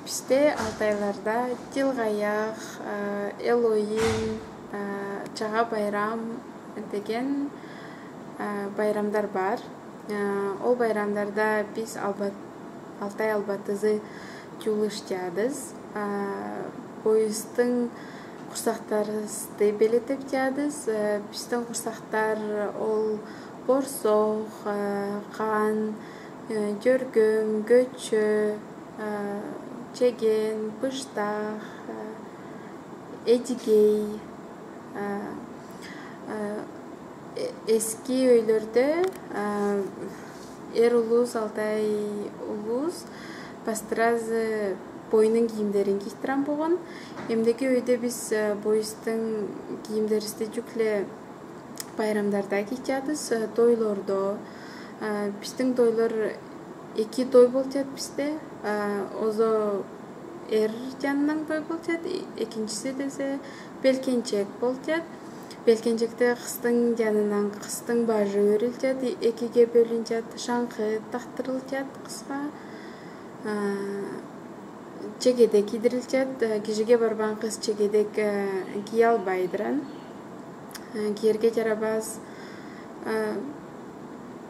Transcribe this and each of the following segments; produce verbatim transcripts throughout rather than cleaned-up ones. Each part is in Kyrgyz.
Бизде Алтайларда Жылгаяк, Элоин, Чага байрам деген байрамдар бар. Ол байрамдарда биз Алтай албатызы жуулуш жаадыз. Боюздун курсактарыбызды белетеп жаадыз. Биздин курсактар ол борсок, кан, жөргөм, көчө, чеген, быштак, эжигей. Эски өйлөрдө эр улус, Алтай улус пастеразы боюнун кийимдерин кийиштирен болгон. Эмдеги өйдө биз боюздун кийимдерибизди жүк эле байрамдарда кийип жатабыз, тойлордо. Биздин тойлор эки той болуп жатат бизде. Озо эр жанынан той болуп жатат, экинчиси десе белкенчек болуп жатат. Белкенчекте кыздын жанынан кыздын бажы өрүлүп жатат, экиге бөлүнүп жатат, шаңкы тактырылып жатат кызга. Чегедек кийдирилип жатат. Кишиге барбаган кыз чегедек кие албайдыр. Кийерге жарабас.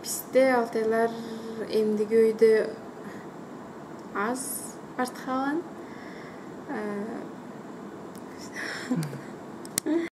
Бизде Алтайлар эмдиги өйдө аз артка калган.